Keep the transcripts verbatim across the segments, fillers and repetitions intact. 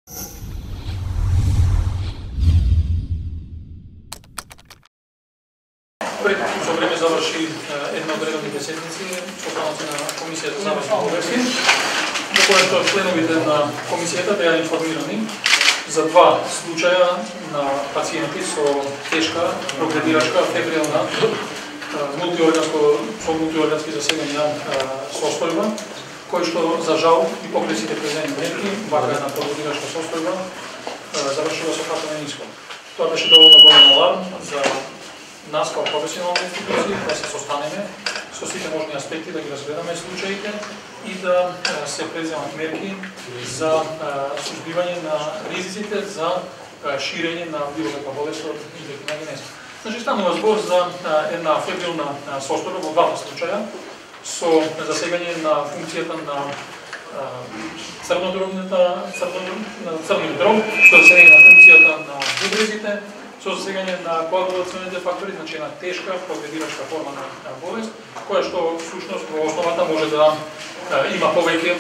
Пред со време заврши една од редовните седници состаноци на Комисијата за завршни болести, во која што членовите на Комисијата беа информирани за два случаја на пациенти со тешка прогредирачка фебрилна мултиорганско со мултиоргански засегања состојба, кој што за жал и покрај сите презени мерки, вака една прогредирачка состојба завршила со фатален исход. Тоа беше доволно голем аларм за нас како професионални институции да се состанеме со сите можни аспекти, да ги разгледаме случаите и да се преземат мерки за сузбивање на ризиците за ширење на било каква болест од инфективна генеза. Значи, станува збор за една фебрилна состојба во двата случаја со засегање на функцијата на црнодробната црниот дроб, што засегање на функцијата на бубрезите, со засегање на коагулационите фактори, значи една тешка прогредирачка форма на болест, која што всушност во основата може да има повеќе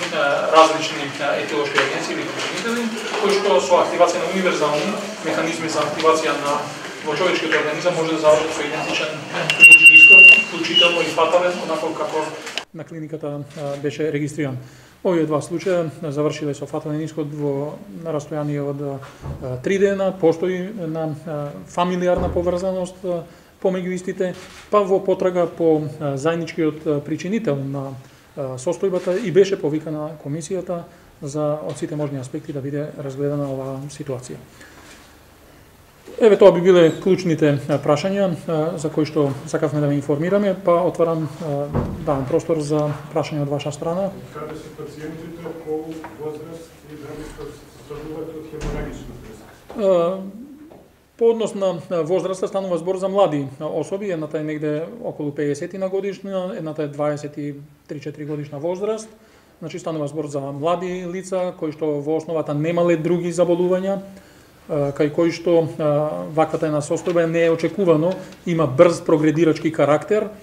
различни етилошки агенции или причинители, кои што со активација на универзални механизми за активација на во човечкиот организам може да завршат со идентичен клинички исход, вклучително и фатален, онако како на клиниката беше регистриран. Овие два случаја завршиле со фатален исход во на растојание од три дена, постои на фамилиарна поврзаност помеѓу истите, па во потрага по заедничкиот причинител на состојбата и беше повикана комисијата за од сите можни аспекти да биде разгледана оваа ситуација. Еве тоа би биле клучните прашања за кои што сакавме да ве информираме, па отварам давам простор за прашања од ваша страна. Каде се пациентите, пол, возраст и дали што страдуваат од хеморагична треска? По однос на возраста станува збор за млади особи, едната е негде околу пеесет на годишна, едната е дваесет и три-четири годишна возраст. Значи станува збор за млади лица кои што во основата немале други заболувања, кај кој што ваквата една состојба не е очекувано, има брз прогредирачки карактер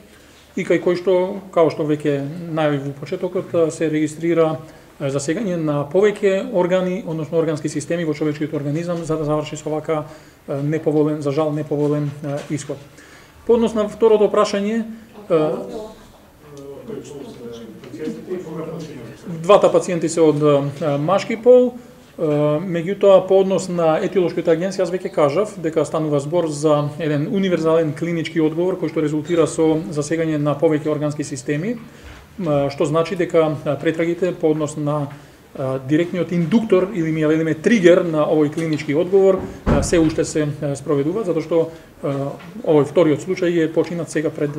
и кај кој што, као што веќе најавив во почетокот, се регистрира засегање на повеќе органи, односно органски системи во човечкиот организам за да заврши со вака неповолен, за жал неповолен исход. По однос на второто прашање, двата пациенти се од машки пол. Меѓутоа, по однос на етилошката агенција, јас веќе кажав дека станува збор за еден универзален клинички одговор кој што резултира со засегање на повеќе органски системи, што значи дека претрагите по однос на директниот индуктор или ми ја велиме тригер на овој клинички одговор се уште се спроведуваат, затоа што овој вториот случај е починат сега пред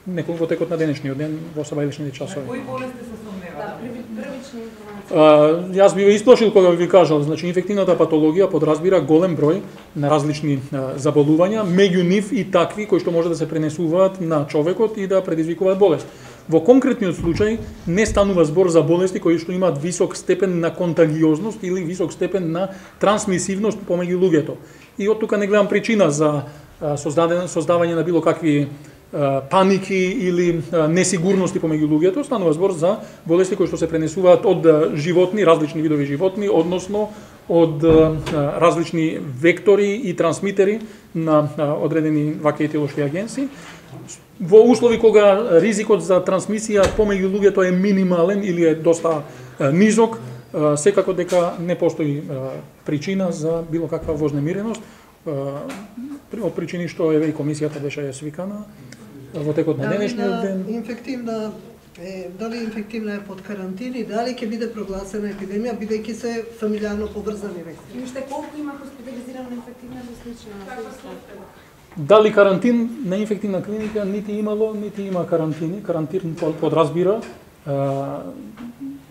неколку во текот на денешниот ден во сабајличните часови. Кои болести се сомневаат? Првични информации. Јас би ве исплашил кога би кажал, значи инфективната патологија подразбира голем број на различни заболувања, меѓу нив и такви кои што може да се пренесуваат на човекот и да предизвикуваат болест. Во конкретниот случај не станува збор за болести кои што имаат висок степен на контагиозност или висок степен на трансмисивност помеѓу луѓето. И од тука не гледам причина за создавање на било какви паники или несигурности помеѓу луѓето, станува збор за болести кои што се пренесуваат од животни, различни видови животни, односно од различни вектори и трансмитери на одредени вакви етилошки агенции. Во услови кога ризикот за трансмисија помеѓу луѓето е минимален или е доста низок, секако дека не постои причина за било каква вознемиреност, од причини што еве и комисијата беше свикана во текот на денешниот ден. Инфективна е, дали инфективна е под карантини, дали ќе биде прогласена епидемија, бидејќи се фамилиарно поврзани веќе. И уште колку има хоспитализирана инфективна слична? Дали карантин на инфективна клиника нити имало, нити има карантини. Карантин подразбира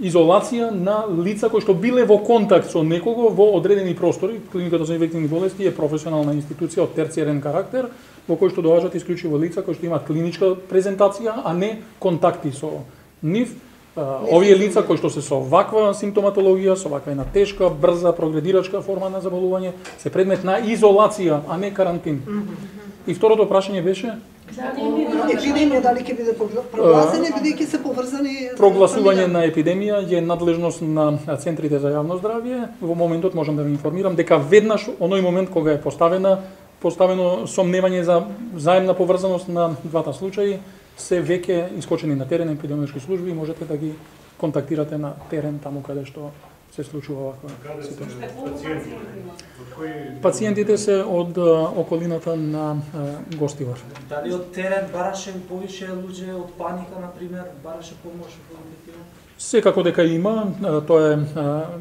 изолација на лица кои што биле во контакт со некого во одредени простори. Клиниката за инфективни болести е професионална институција од терцијарен карактер, во кој што доаѓаат исклучиво лица кои што имаат клиничка презентација, а не контакти со нив. Овие лица кои што се со ваква симптоматологија, со ваква една тешка, брза, прогредирачка форма на заболување, се предмет на изолација, а не карантин. И второто прашање беше Епидемија дали ќе биде прогласена, бидејќи се поврзани со прогласување на епидемија е надлежност на центрите за јавно здравје. Во моментот можам да ви информирам дека веднаш оној момент кога е поставена поставено сомневање за заемна поврзаност на двата случаи, се веќе искочени на терен епидемиолошки служби и можете да ги контактирате на терен таму каде што се случува оваква ситуација. Пациентите се од околината на Гостивар. Дали од терен бараше повише луѓе од паника, например, бараше помош во ефективно? Секако дека има, тоа е,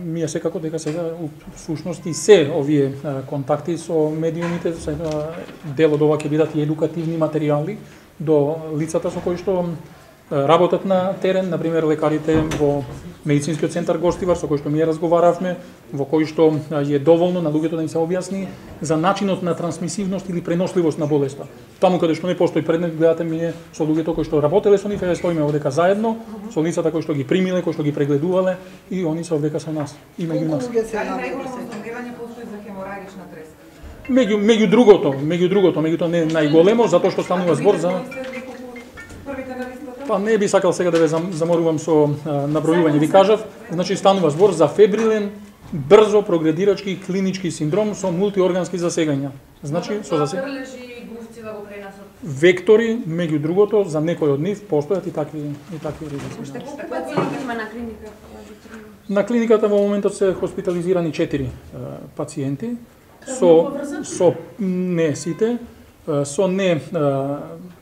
ми е секако дека сега, всушност и се овие контакти со медиумите, дел од ова ќе бидат и едукативни материјали до лицата со кои што работат на терен, например лекарите во медицинскиот центар Гостивар, со кој што ми разговаравме, во кој што е доволно на луѓето да им се објасни за начинот на трансмисивност или преносливост на болеста. Таму каде што не постои предмет, гледате ми со луѓето кои што работеле со нив, е стоиме овдека заедно, со лицата кои што ги примиле, кои што ги прегледувале и они се овдека со нас и меѓу нас. Дали најголемо снабдевање постои за хеморагична треска? Меѓу меѓу другото, меѓу другото, меѓутоа не најголемо затоа што станува збор за Па не би сакал сега да ве заморувам со набројување. Ви кажав, значи станува збор за фебрилен, брзо прогредирачки клинички синдром со мултиоргански засегања. Значи со засегања. Вектори, меѓу другото, за некој од нив постојат и такви и такви ризици. на клиника? На клиниката во моментот се хоспитализирани четири пациенти со со не сите со не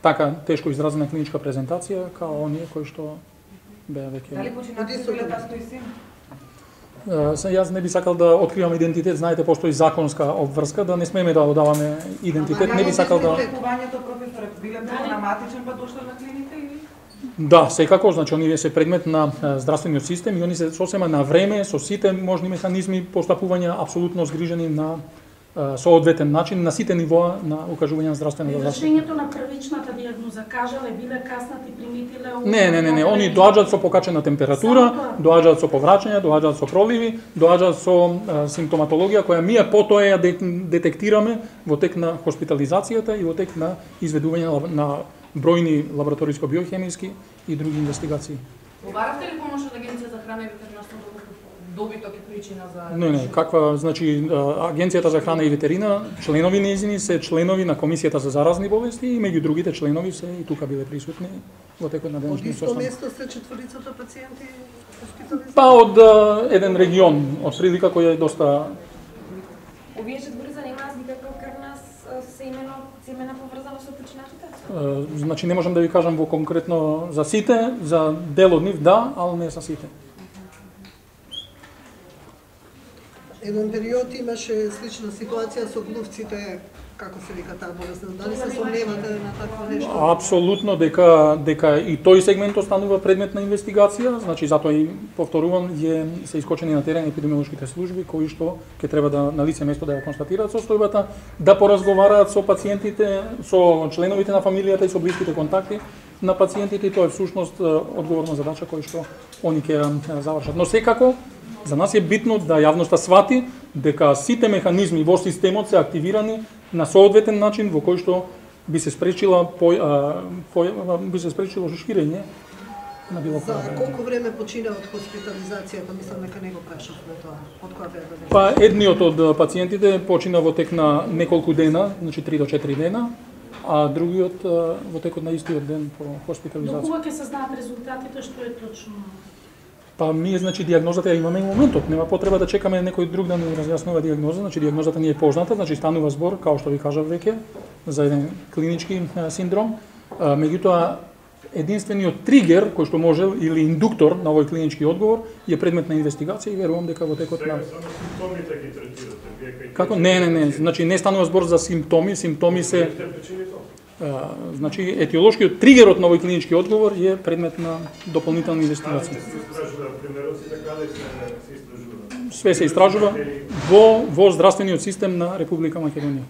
така тешко изразена клиничка презентација као оние кои што беа веќе. Дали починатите тастои син? Се јас не би сакал да откривам идентитет, знаете постои законска обврска да не смееме да одаваме идентитет, не би сакал да Лекувањето професоре биле проблематичен па дошло на клиника или? Да, секако, значи оние се предмет на здравствениот систем и они се сосема на време со сите можни механизми постапувања апсолутно згрижени на соодветен начин на сите нивоа на укажување на здравствена заштита. Извршењето на првичната дијагноза, кажале, биле каснати, примитиле... Не, не, не, не, они доаѓаат со покачена температура, доаѓаат со повраќања, доаѓаат со проливи, доаѓаат со а, симптоматологија која ние потоа ја детектираме во тек на хоспитализацијата и во тек на изведување на бројни лабораториско-биохемиски и други инвестигации. Побаравте ли помош од Агенција за храна и ветеринарство добиток и причина за... Не, не, каква, значи, Агенцијата за храна и ветерина, членови нејзини се членови на Комисијата за заразни болести и меѓу другите членови се и тука биле присутни во текот на денешниот состанок. Од исто место се четворицата пациенти хоспитализирани? Па од еден регион, од прилика која е доста... Овие четворица немаат никаква крвна семено, семена поврзана со починатите? Значи, не можам да ви кажам во конкретно за сите, за дел од нив да, али не за сите. Еден период имаше слична ситуација со глувците, како се вика таа болест, дали се сомневате на такво нешто? Апсолутно дека дека и тој сегмент останува предмет на инвестигација, значи затоа и повторувам е се искочени на терен епидемиолошките служби кои што ќе треба да на лице место да ја констатираат состојбата, да поразговараат со пациентите, со членовите на фамилијата и со блиските контакти на пациентите, и тоа е всушност одговорна задача која што они ќе ја завршат. Но секако за нас е битно да јавноста свати дека сите механизми во системот се активирани на соодветен начин во кој што би се спречила по, а, по, би се спречило ширење на било За колку време почина од хоспитализацијата, мислам дека не го прашавме тоа. Од која период? Па едниот од пациентите почина во тек на неколку дена, значи три до четири дена, а другиот во текот на истиот ден по хоспитализација. До кога ќе се знаат резултатите, што е точно? Па ние, значи, дијагнозата ја имаме и моментот. Нема потреба да чекаме некој друг да ни разјаснува дијагноза. Значи, дијагнозата ни е позната, значи станува збор, као што ви кажав веќе, за еден клинички синдром. А, меѓутоа, единствениот тригер кој што може или индуктор на овој клинички одговор е предмет на инвестигација и верувам дека во текот на... Само симптомите ги третирате. Како? Не, не, не. Значи, не станува збор за симптоми. Симптоми се... А, значи, етиолошкиот тригерот на овој клинички одговор е предмет на дополнителна инвестигација. Све се истражува во, во здравствениот систем на Република Македонија.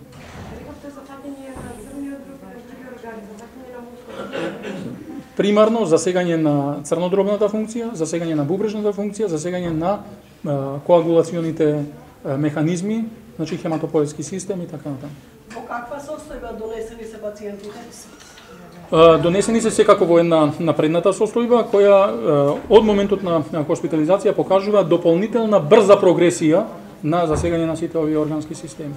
Примарно засегање на црнодробната функција, засегање на бубрежната функција, засегање на а, коагулационите а, механизми, значи хематопоетски систем и така натаму. Во каква состојба донесени се пациентите? Донесени се секако во една напредната состојба која од моментот на хоспитализација покажува дополнителна брза прогресија на засегање на сите овие органски системи.